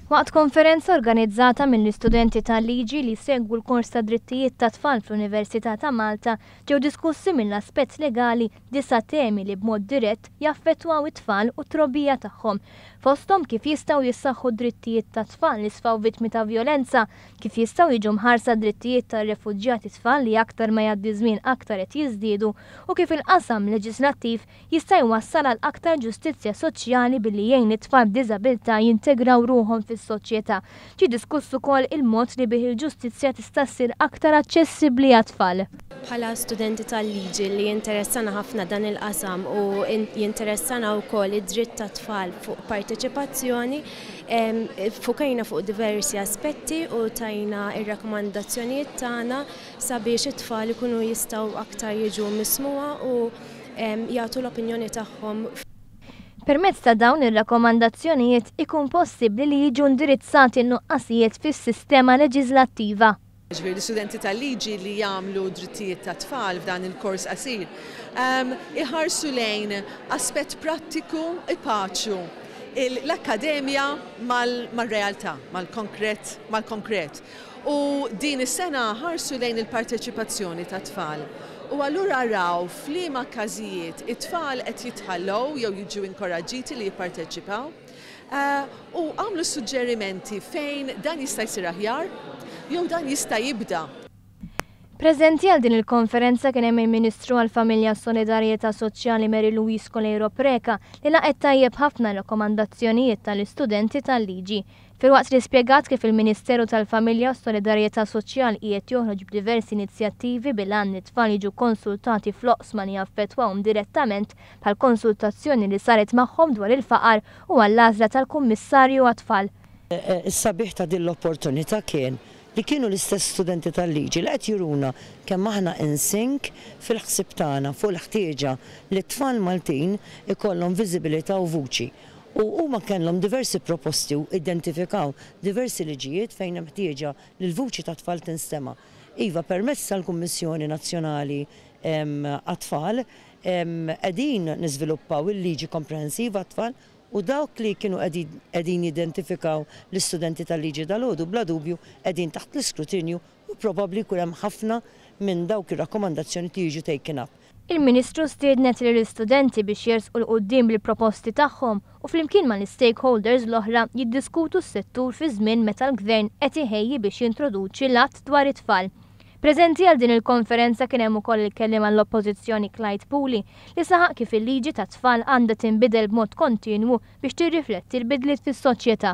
Waqt konferenza organizzata mill-istudenti tal-liġi li jsegwu l-kors ta' drittijiet tat-tfal fl-Università ta' Malta, ġew diskussi mill-aspett legali disa' temi li b'mod dirett jaffettwaw it-tfal u t-trobbija tagħhom. Fosthom kif jistgħu jissaħħu d-drittijiet tat-tfal li sfaw vittmi ta' vjolenza, kif jistgħu jiġu mħarsa d-drittijiet tar-refuġjati tfal li aktar ma jgħaddi żmien aktar qed jiżdiedu u kif il-qasam leġislattiv jista' jwassal għal aktar ġustizzja soċjali billi jgħin lit-tfal b'diżabilità jintegraw ruħhom fis-soċjetà. Ġie diskuss ukoll il-mod li bih il-ġustizzja tista' ssir aktar aċċessibbli għat-tfal. Bħala studenti tal-liġi li jinteressana ħafna dan il-qasam u jinteressana wkoll id-dritt tat-tfal fuq parteċipazzjoni, ffukajna fuq diversi aspetti u tajna r-rakkomandazzjonijiet tagħna sabiex it-tfal ikunu jistgħu aktar jiġu mismugħa u jagħtu l-opinjoni tagħhom. Permezz ta' dawn ir-rakkomandazzjonijiet ikun possibbli li jiġu indirizzati n-nuqqasijiet fis-sistema leġiżlattiva. Ġifieri l-istudenti tal-liġi li jagħmlu drittijiet tat-tfal f'dan il-kors qasir iħarsu lejn aspett prattiku ipaċu l-akkademja mar-realtà, mal-konkret, mal-konkret. U din is-sena ħarsu lejn il-parteċipazzjoni tat-tfal. U allura raw f'liema każijiet it-tfal qed jitħallew jew jiġu inkoraġġiti li jipparteċipaw. U għamlu suġġerimenti fejn dan jista' jsir aħjar jew dan jista' jibda. Preżenti għal din il-konferenza kien hemm il-Ministru għall-Familja u Solidarjetà Soċjali Mary Louise Coleiro Preca li laqgħet tajjeb ħafna r-rakkomandazzjonijiet tal-istudenti tal-liġi. Filwaqt li spjegat kif il-Ministeru tal-Familja u s-Solidarjetà Soċjal qiegħed joħroġ b'diversi inizjattivi bil-għan li t-tfal jiġu kkonsultati fl-oqsma li jaffettwahom direttament bħall-konsultazzjoni li saret magħhom dwar il-faqar u għall-għażla tal-Kummissarju għat-Tfal. Is-sabiħ ta' din l-opportunità kien li kienu l-istess studenti tal-liġi li qed juruna kemm aħna in sync fil-ħsieb tagħna fuq il-ħtieġa li t-tfal Maltin ikollhom viżibilità u vuċi. U huma kellhom diversi proposti u identifikaw diversi liġijiet fejn hemm ħtieġa li l-vuċi tat-tfal tinstema'. Iva, permezz tal-Kummissjoni Nazzjonali għat-Tfal qegħdin niżviluppaw il-liġi komprehensiva għat-tfal u dawk li kienu qegħdin jidentifikaw l-istudenti tal-liġi dalgħodu bla dubju qegħdin taħt l-iskrutinju u probabbli jkun hemm ħafna minn dawk ir-rakkomandazzjonijiet li jiġu taken up. Il-Ministru stiednet lill-istudenti biex jersqu 'l quddiem bil-proposti tagħhom u flimkien mal-istakeholders l-oħra jiddiskutu s-settur fi żmien meta l-Gvern qed iħejji biex jintroduċi l-Att dwar it-Tfal. Preżenti għal din il-konferenza kien hemm ukoll il-Kelliem għall-Oppożizzjoni Clyde Puli li saħaq kif il-liġi tat-tfal għandha tinbidel b'mod kontinwu biex tirrifletti l-bidliet fis-soċjetà.